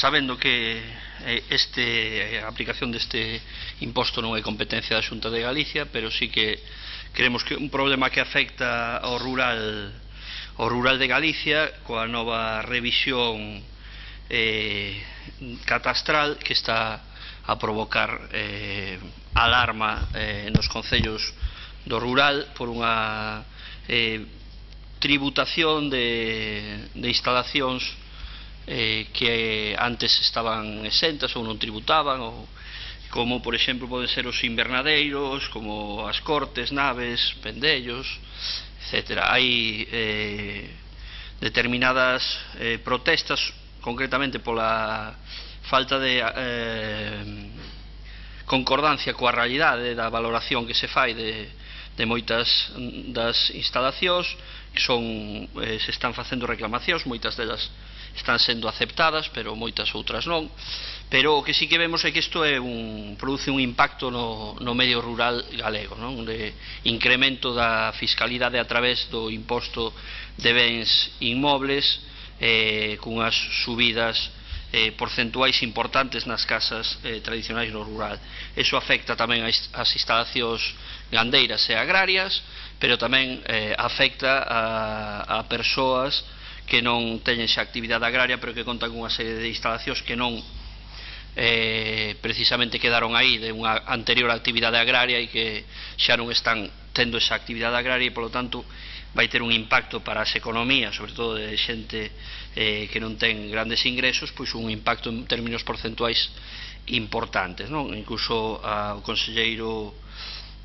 sabendo que a aplicación deste imposto non é competencia da Xunta de Galicia, pero sí que creemos que un problema que afecta ao rural de Galicia coa nova revisión catastral que está a provocar alarma nos concellos do rural por unha tributación de instalacións que antes estaban exentas ou non tributaban, como por exemplo poden ser os invernadeiros, como as cortes, naves, pendellos, etc. Hai determinadas protestas, concretamente pola falta de concordancia coa realidade da valoración que se fai de moitas das instalacións, se están facendo reclamacións, moitas delas están sendo aceptadas, pero moitas outras non. Pero o que sí que vemos é que isto produce un impacto no medio rural galego, de incremento da fiscalidade a través do imposto de bens inmobles, cunhas subidas porcentuais importantes nas casas tradicionais no rural. Eso afecta tamén as instalacións gandeiras e agrarias, pero tamén afecta a persoas que non teñen xa actividade agraria, pero que contan cunha serie de instalacións que non precisamente quedaron aí de unha anterior actividade agraria e que xa non están tendo esa actividade agraria e, polo tanto, vai ter un impacto para as economías, sobre todo de xente que non ten grandes ingresos, pois un impacto en términos porcentuais importantes, non? Incluso o conselleiro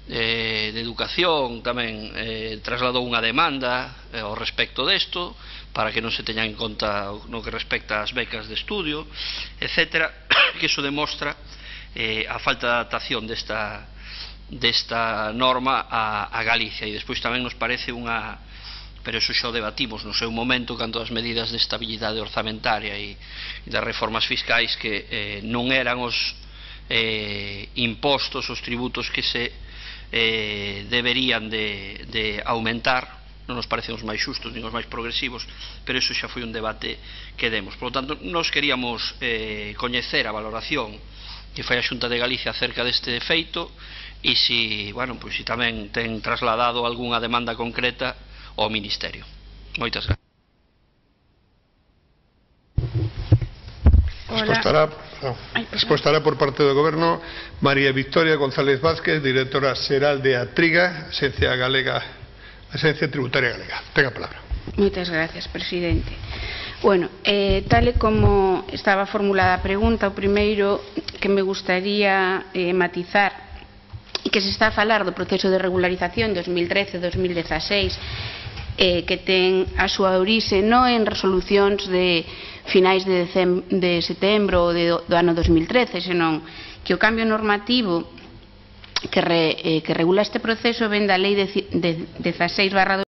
de Educación tamén trasladou unha demanda ao respecto desto, para que non se teñan en conta no que respecta ás becas de estudio, etc., que iso demostra a falta de adaptación desta norma a Galicia. E despois tamén nos parece pero iso xa o debatimos no seu momento, canto as medidas de estabilidade orzamentaria e das reformas fiscais, que non eran os impostos, os tributos que se deberían de aumentar, non nos parecen os máis xustos nin os máis progresivos, pero iso xa foi un debate que demos. Por lo tanto, nos queríamos coñecer a valoración que fai a Xunta de Galicia acerca deste feito e se tamén ten trasladado algunha demanda concreta ao Ministerio. Moitas gracias. Respostará por parte do Goberno María Victoria González Vázquez, directora xeral de Atriga, Axencia Tributaria Galega. Tenga a palabra. Moitas gracias, presidente. Bueno, tal e como estaba formulada a pregunta, o primeiro que me gustaría matizar e que se está a falar do proceso de regularización 2013-2016, que ten a súa orixe non en resolucións de finais de setembro ou do ano 2013, senón que o cambio normativo que regula este proceso ven da Lei 16/2013